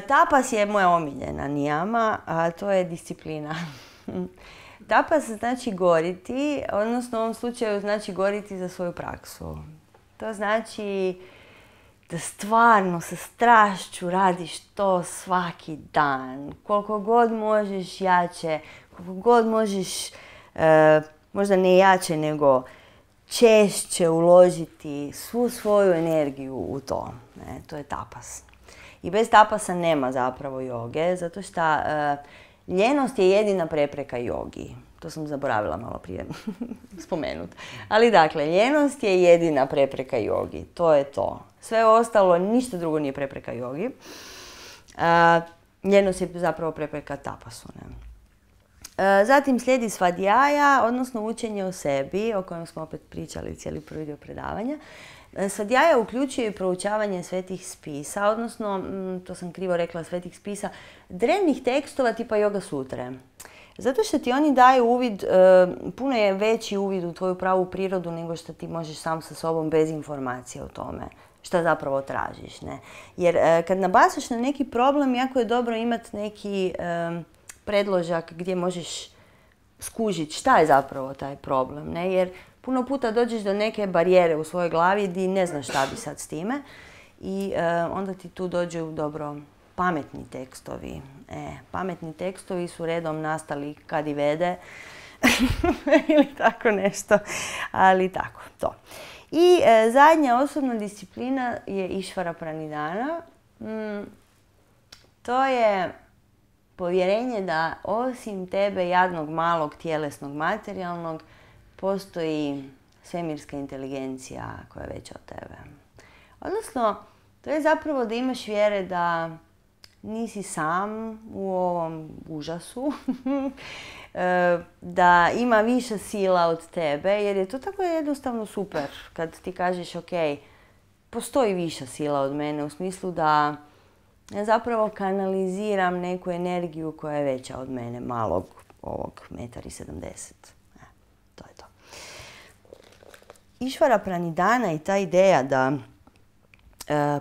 Tapas je moja omiljena nijama, a to je disciplina. Tapas znači goriti, odnosno u ovom slučaju znači goriti za svoju praksu. To znači da stvarno sa strašću radiš to svaki dan. Koliko god možeš jače, koliko god možeš, možda ne jače, nego češće uložiti svu svoju energiju u to. To je tapas. I bez tapasa nema zapravo joge, zato što ljenost je jedina prepreka jogi. To sam zaboravila malo prije spomenuti. Ali dakle, ljenost je jedina prepreka jogi. To je to. Sve ostalo, ništa drugo nije prepreka jogi. Ljenost je zapravo prepreka tapasu. Zatim slijedi svadjaja, odnosno učenje o sebi, o kojem smo opet pričali cijeli prvi dio predavanja. Svadjaja uključuje i proučavanje svetih spisa, odnosno, to sam krivo rekla, svetih spisa, drevnih tekstova tipa Yoga sutre. Zato što ti oni daju uvid, puno je veći uvid u tvoju pravu prirodu nego što ti možeš sam sa sobom bez informacije o tome što zapravo tražiš. Ne? Jer kad nabasaš na neki problem, jako je dobro imati neki predložak gdje možeš skužiti šta je zapravo taj problem. Ne? Jer puno puta dođeš do neke barijere u svojoj glavi gdje ne znaš šta bi sad s time i onda ti tu dođu dobro pametni tekstovi. Pametni tekstovi su redom nastali kad i vede ili tako nešto, ali tako, to. I zadnja osobna disciplina je Išvara Pranidhana. To je povjerenje da osim tebe, jadnog, malog, tjelesnog, materijalnog, postoji svemirska inteligencija koja je veća od tebe. Odnosno, to je zapravo da imaš vjere da nisi sam u ovom užasu, da ima više sila od tebe, jer je to tako jednostavno super kad ti kažeš ok, postoji viša sila od mene u smislu da ja zapravo kanaliziram neku energiju koja je veća od mene, malog ovog 1,70 m. To je to. Išvara Pranidhana i ta ideja da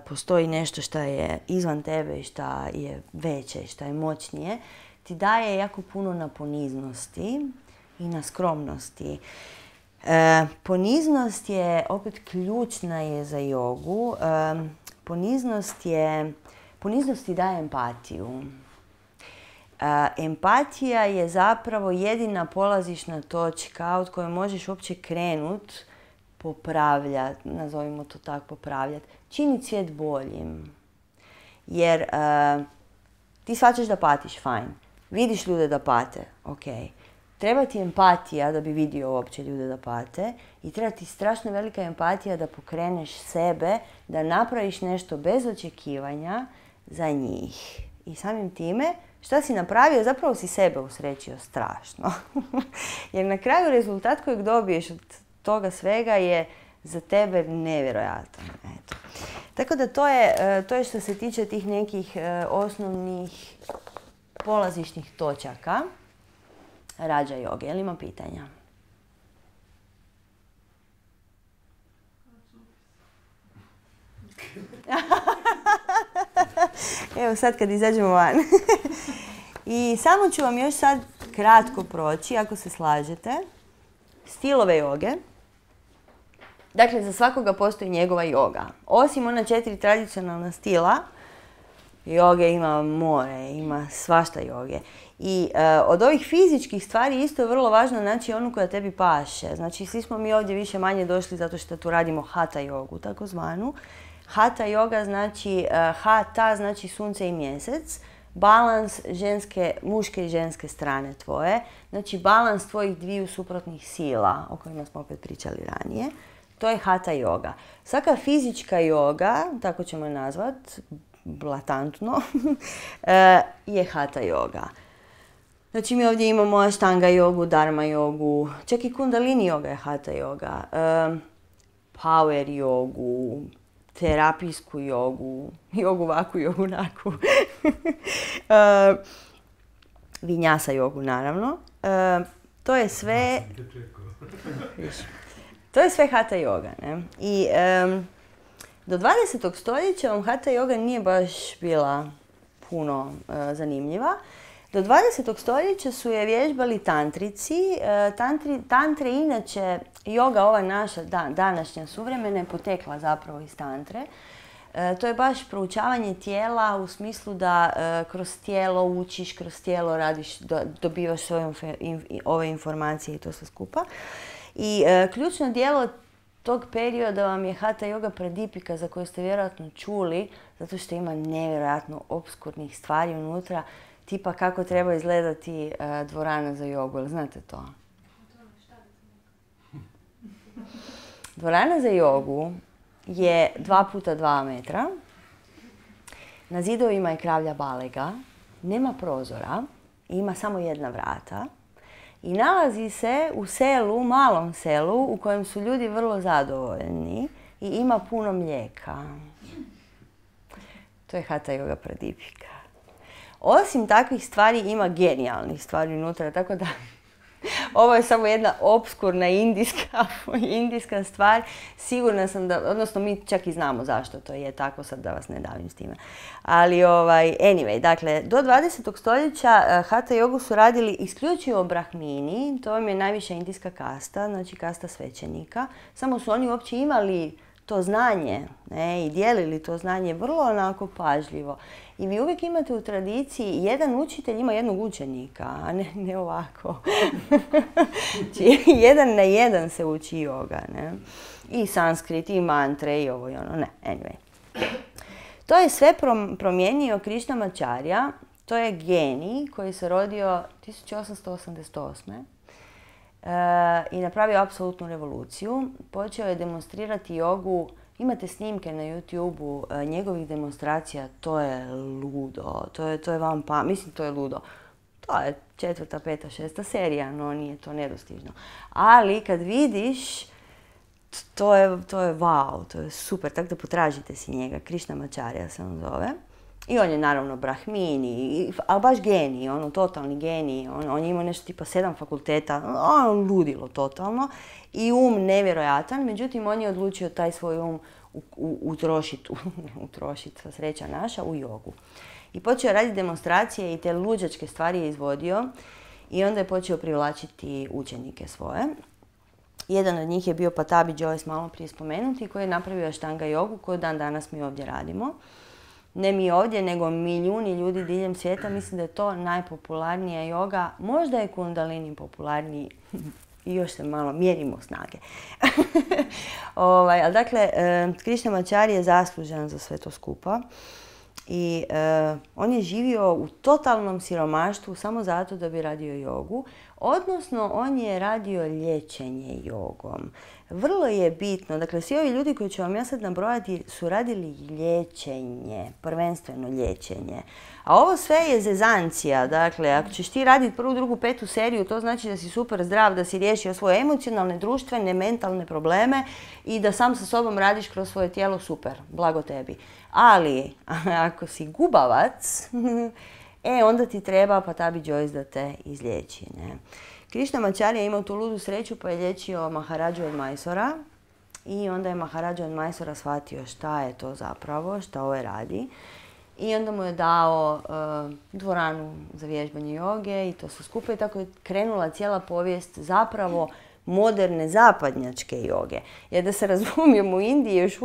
postoji nešto što je izvan tebe i što je veće i što je moćnije, ti daje jako puno na poniznosti i na skromnosti. Poniznost je opet ključna je za jogu. Poniznost ti daje empatiju. Empatija je zapravo jedina polazišna točka od koje možeš uopće krenuti popravljati, nazovimo to tako, popravljati, činiti svijet boljim. Jer ti shvaćaš da patiš, fajn. Vidiš ljude da pate, ok. Treba ti empatija da bi vidio uopće ljude da pate i treba ti strašno velika empatija da pokreneš sebe, da napraviš nešto bez očekivanja za njih. I samim time, šta si napravio, zapravo si sebe usrećio strašno. Jer na kraju rezultat kojeg dobiješ od toga svega je za tebe nevjerojatan. Eto. Tako da to je što se tiče tih nekih osnovnih polazišnih točaka rađa joge. Je li ima pitanja? Evo sad kad izađemo van. I samo ću vam još sad kratko proći, ako se slažete, stilove joge. Dakle, za svakoga postoji njegova joga. Osim ona 4 tradicionalna stila, joge ima more, ima svašta joge. I od ovih fizičkih stvari isto je vrlo važno naći onu koja tebi paše. Znači, svi smo mi ovdje više manje došli zato što tu radimo hatha jogu, takozvanu. Hatha joga znači, hatha znači sunce i mjesec, balans muške i ženske strane tvoje, znači balans tvojih dviju suprotnih sila, o kojima smo opet pričali ranije. To je hatha joga. Svaka fizička joga, tako ćemo je nazvat, blatantno, je hatha joga. Znači mi ovdje imamo ashtanga jogu, dharma jogu, čak i kundalini joga je hatha joga, power jogu, terapijsku jogu, jogu vaku, jogu naku, vinyasa jogu naravno. To je sve... To je sve hatha joga. Ne? I do 20. stoljeća vam hatha joga nije baš bila puno zanimljiva. Do 20. stoljeća su je vježbali tantrici. Tantre, inače, joga ova naša današnja suvremena je potekla zapravo iz tantre. To je baš proučavanje tijela u smislu da kroz tijelo učiš, kroz tijelo radiš, dobivaš svoje ove informacije i to sve skupa. I ključno djelo tog perioda vam je Hatha Yoga Pradipika, za koju ste vjerojatno čuli, zato što ima nevjerojatno obskurnih stvari unutra, tipa kako treba izgledati dvorana za jogu. Jel znate to? Dvorana za jogu je 2x2 metra. Na zidovima je kravlja balega, nema prozora, ima samo jedna vrata i nalazi se u selu, malom selu, u kojem su ljudi vrlo zadovoljni i ima puno mlijeka. To je Hatha Yoga Pradipika. Osim takvih stvari ima genijalnih stvari unutra, tako da ovo je samo jedna obskurna indijska stvar. Sigurna sam da, odnosno mi čak i znamo zašto to je tako, sad da vas ne davim s time. Ali anyway, dakle, do 20. stoljeća Hatha jogu su radili isključivo brahmini, to vam je najviša indijska kasta, znači kasta svećenika. Samo su oni uopće imali to znanje, ne, i dijelili to znanje vrlo onako pažljivo. I vi uvijek imate u tradiciji, jedan učitelj ima jednog učenika, a ne ovako. Znači, 1 na 1 se uči joga, ne. I sanskrit, i mantre, i ovo i ono, ne, anyway. To je sve promijenio Krishnamacharya, to je genij koji se rodio 1888. I napravio apsolutnu revoluciju. Počeo je demonstrirati jogu. Imate snimke na YouTube-u njegovih demonstracija, to je ludo, to je vam mislim to je ludo. To je 4., 5., 6. serija, no nije to nedostižno. Ali kad vidiš, to je wow, to je super, tako da potražite si njega, Krishnamacharya se on zove. I on je naravno brahmin, ali baš genij, ono totalni genij, on je imao nešto tipa 7 fakulteta, on ludilo totalno i nevjerojatan, međutim on je odlučio taj svoj utrošiti, sva sreća naša, u jogu. I počeo raditi demonstracije i te luđačke stvari je izvodio i onda je počeo privlačiti učenike svoje. Jedan od njih je bio Patabi Jois, malo prije spomenuti, koji je napravio Ashtanga jogu koju dan danas mi ovdje radimo. Ne mi ovdje, nego milijuni ljudi diljem svijeta. Mislim da je to najpopularnija joga. Možda je Kundalini popularniji i još se malo mjerimo snage. Ali dakle, Krishnamacharya je zaslužan za sve to skupa. I on je živio u totalnom siromaštvu samo zato da bi radio jogu. Odnosno, on je radio liječenje jogom. Vrlo je bitno, dakle, svi ovi ljudi koji ću vam ja sad nabrojati su radili liječenje, prvenstveno liječenje. A ovo sve je zezancija, dakle, ako ćeš ti raditi 1., 2., 5. seriju, to znači da si super zdrav, da si riješio svoje emocionalne, društvene, mentalne probleme i da sam sa sobom radiš kroz svoje tijelo, super, blago tebi. Ali, ako si gubavac, onda ti treba Patabi Jois da te izliječi, ne. Krishnamacharya je imao tu ludu sreću pa je liječio Maharadžu od Majsora i onda je Maharadža od Majsora shvatio šta je to zapravo, šta ovo radi. I onda mu je dao dvoranu za vježbanje joge i to su skupa i tako je krenula cijela povijest zapravo moderne zapadnjačke joge. Jer da se razumijemo, u Indiji još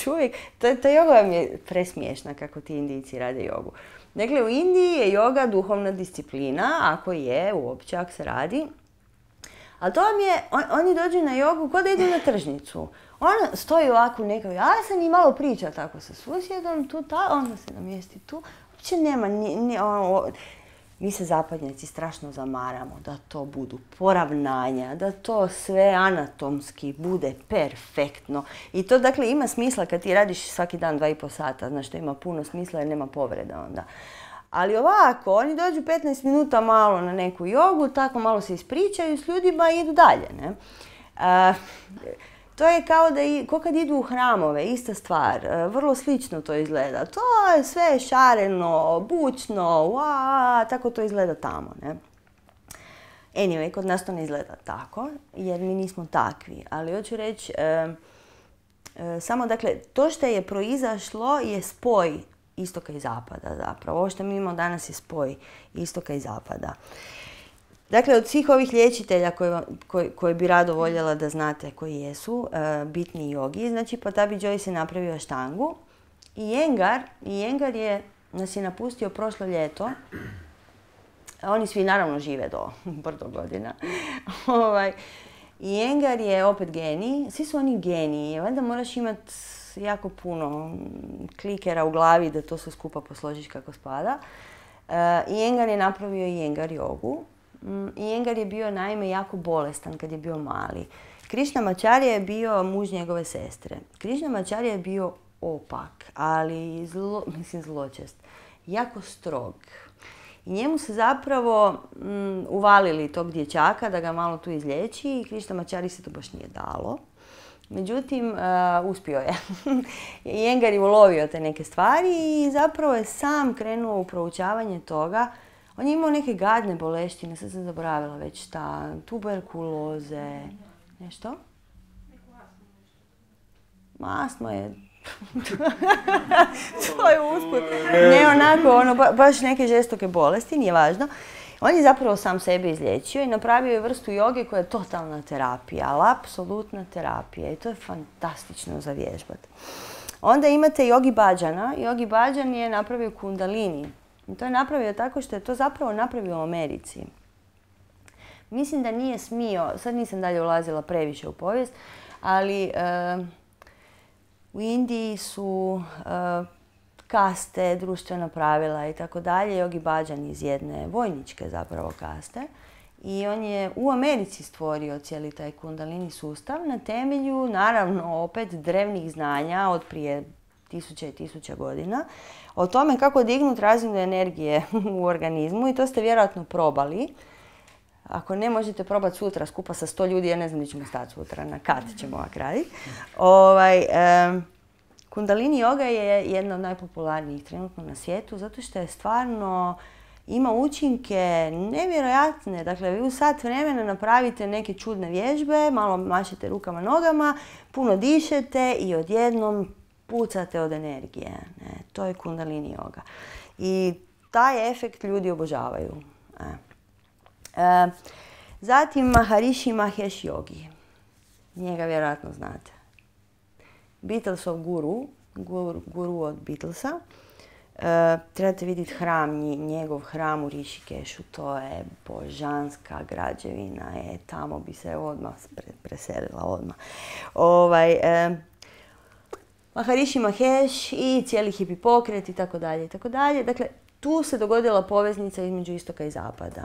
uvijek, ta joga vam je presmiješna kako ti Indijci rade jogu. Dakle, u Indiji je joga duhovna disciplina, ako je, uopće, ako se radi. Ali to vam je, oni dođu na jogu kao da idu na tržnicu. Ona stoji ovako nekako, ja sam i malo priča tako sa susjedom, onda se namjesti tu. Uopće nema, mi se zapadnjaci strašno zamaramo da to budu poravnanja, da to sve anatomski bude perfektno. I to dakle ima smisla kad ti radiš svaki dan 2,5 sata, znaš to ima puno smisla jer nema povreda onda. Ali ovako, oni dođu 15 minuta malo na neku jogu, tako malo se ispričaju s ljudima i idu dalje, ne? To je kao kad idu u hramove, ista stvar, vrlo slično to izgleda. To je sve šareno, bučno, tako to izgleda tamo, ne? Anyway, kod nas to ne izgleda tako, jer mi nismo takvi. Ali hoću reći, samo dakle, to što je proizašlo je spoj istoka i zapada zapravo. Ovo što mi imamo danas je spoj istoka i zapada. Dakle, od svih ovih liječitelja koji bi rado voljela da znate koji jesu, bitni jogi, znači Pattabhi Jois je napravio Aštangu i Iyengar nas je napustio prošlo ljeto. Oni svi naravno žive do brdo godina. Iyengar je opet genij, svi su oni geniji, valjda moraš imati jako puno klikera u glavi da to sve skupa posložiš kako spada. Iyengar je napravio Iyengar jogu. Iyengar je bio naime jako bolestan kad je bio mali. Krishnamacharya je bio muž njegove sestre. Krishnamacharya je bio opak, ali zločest, jako strog. I njemu se zapravo uvalili tog dječaka da ga malo tu izliječi i Krishnamacharya se to baš nije dalo. Međutim, uspio je. Iyengar je ulovio te neke stvari i zapravo je sam krenuo u proučavanje toga. On je imao neke gadne boleštine, sad sam zaboravila već šta, tuberkuloze, nešto? Astma je... to je usput. Ne onako, baš neke žestoke bolesti, nije važno. On je zapravo sam sebe izliječio i napravio je vrstu joge koja je totalna terapija, ali apsolutna terapija i to je fantastično za vježbati. Onda imate Yogi Bhajana. Yogi Bhajan je napravio kundalini. I to je napravio tako što je to zapravo napravio u Americi. Mislim da nije smio, sad nisam dalje ulazila previše u povijest, ali u Indiji su kaste, društvena pravila i tako dalje. Yogi Bhajan iz jedne vojničke zapravo kaste. I on je u Americi stvorio cijeli taj kundalini sustav na temelju, naravno, opet drevnih znanja od prije tisuća i tisuća godina o tome kako dignuti razinu energije u organizmu i to ste vjerojatno probali. Ako ne, možete probati sutra skupa sa 100 ljudi, ja ne znam gdje ćemo stati sutra, na kat ćemo ovak raditi. Kundalini yoga je jedna od najpopularnijih trenutno na svijetu zato što je stvarno ima učinke nevjerojatne. Dakle, vi u sat vremena napravite neke čudne vježbe, malo mašete rukama, nogama, puno dišete i odjednom pucate od energije. To je kundalini yoga. I taj efekt ljudi obožavaju. Zatim Maharishi Mahesh Yogi. Njega vjerojatno znate. Beatlesov guru od Beatlesa. Trebate vidjeti hram, njegov hram u Rishikešu. To je božanska građevina. Tamo bi se odmah preselila odmah. Maharishi Mahesh i cijeli hipi pokret i tako dalje i tako dalje. Dakle, tu se dogodila poveznica između istoka i zapada.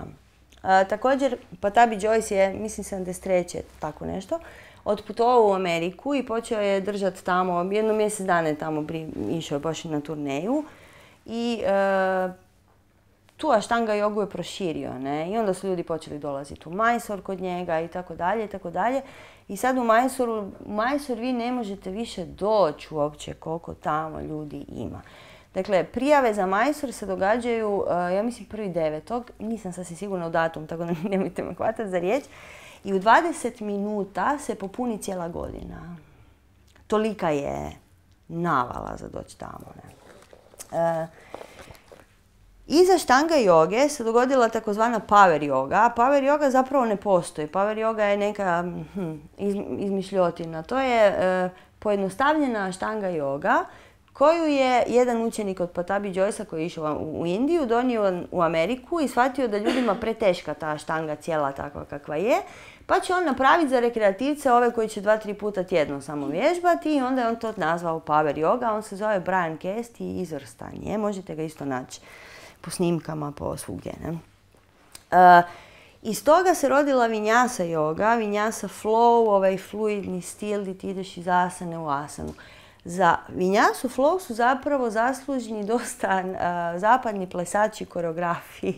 Također, Pattabhi Jois je, mislim 73. tako nešto, otputovao u Ameriku i počeo je držati tamo, jedno mjesec dana je tamo išao je baš na turneju i tu Aštanga jogu je proširio, ne? I onda su ljudi počeli dolaziti u Mysore kod njega i tako dalje i tako dalje. I sad u Mysore vi ne možete više doći uopće koliko tamo ljudi ima. Dakle, prijave za Mysore se događaju, ja mislim 1.9. Nisam sasvim sigurna u datum, tako da nemojte me hvatati za riječ. I u 20 minuta se popuni cijela godina. Tolika je navala za doći tamo. Iza Aštanga joge se dogodila takozvana power yoga. Power yoga zapravo ne postoji. Power yoga je neka izmišljotina. To je pojednostavljena Aštanga yoga koju je jedan učenik od Pattabhi Joisa koji je išao u Indiju donio u Ameriku i shvatio da ljudima preteška ta Aštanga cijela takva kakva je. Pa će on napraviti za rekreativce ove koji će 2-3 puta tjedno samo vježbati i onda je on to nazvao power yoga. On se zove Brian Kest i izvrstan je. Možete ga isto naći po snimkama, po svugdje. Iz toga se rodila Vinyasa yoga, Vinyasa flow, ovaj fluidni stil gdje ti ideš iz asane u asanu. Za Vinyasu flow su zapravo zaslužni dosta zapadni plesači koreografi,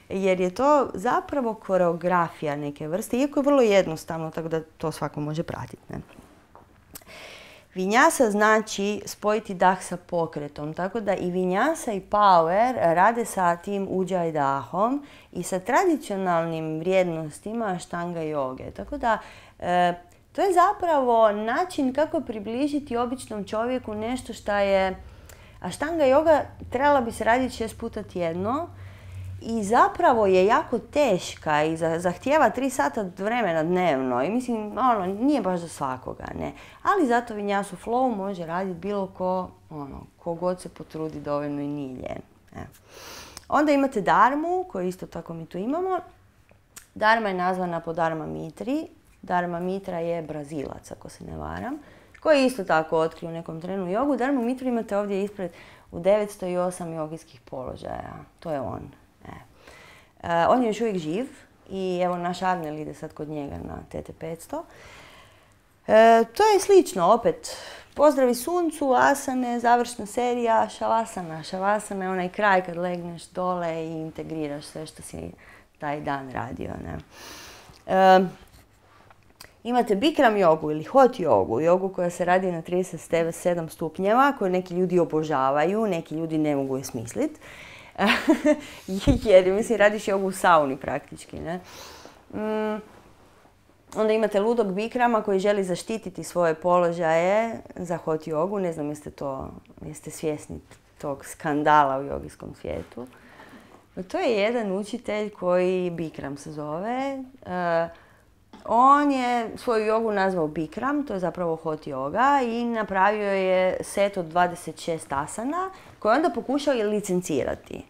jer je to zapravo koreografija neke vrste, iako je vrlo jednostavno, tako da to svako može pratiti. Ne? Vinyasa znači spojiti dah sa pokretom, tako da i Vinyasa i Power rade sa tim Ujjayi dahom i sa tradicionalnim vrijednostima Aštanga joge. Tako da to je zapravo način kako približiti običnom čovjeku nešto što je A štanga joga trebala bi se raditi 6 puta tjedno i zapravo je jako teška i zahtijeva 3 sata vremena dnevno i mislim, nije baš za svakoga, ne. Ali zato Vinyasa Flow može raditi bilo ko god se potrudi dovoljno i nije ljen. Onda imate Dharmu, koju isto tako mi tu imamo. Dharma je nazvana po Dharma Mitri. Dharma Mitra je Brazilac, ako se ne varam, koji je isto tako otkrio u nekom trenu jogu. Dharma Mitru imate ovdje ispred u 908 jogijskih položaja. To je on. On je još uvijek živ i evo naš Arnel ide sad kod njega na TT500. To je slično, opet, pozdravi suncu, asane, završna serija, šavasana. Šavasana je onaj kraj kad legneš dole i integriraš sve što si taj dan radio. Ne? Imate Bikram jogu ili hot jogu, jogu koja se radi na 37 stupnjeva, koju neki ljudi obožavaju, neki ljudi ne mogu je smisliti. Jer, mislim, radiš jogu u sauni praktički, ne? Onda imate ludog Bikrama koji želi zaštititi svoje položaje za hot jogu. Ne znam jeste svjesni tog skandala u jogijskom svijetu. To je jedan učitelj koji Bikram se zove. On je svoju jogu nazvao Bikram, to je zapravo hot joga, i napravio je set od 26 asana koje onda pokušao je licencirati.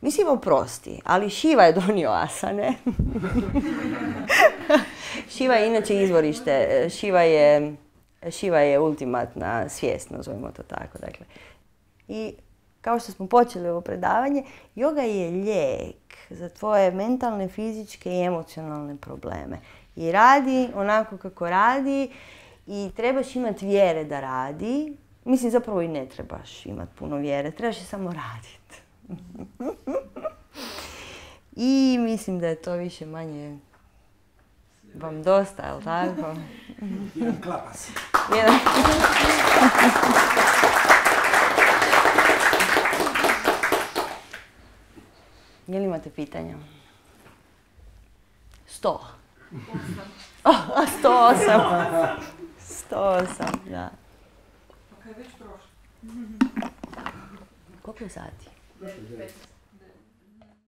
Mislim, oprosti, ali Shiva je donio asane. Shiva je inače izvorište, Shiva je ultimatna svijest, nazovimo to tako. Dakle. I kao što smo počeli ovo predavanje, joga je lijek za tvoje mentalne, fizičke i emocionalne probleme. I radi onako kako radi i trebaš imati vjere da radi. Mislim, zapravo i ne trebaš imati puno vjere, trebaš je samo raditi. I mislim da je to više manje vam dosta, jel tako? Jedan klapas. Je li imate pitanja? 100. 108. 108, da. Ok, već prošlo. Koliko je sati? 9:15.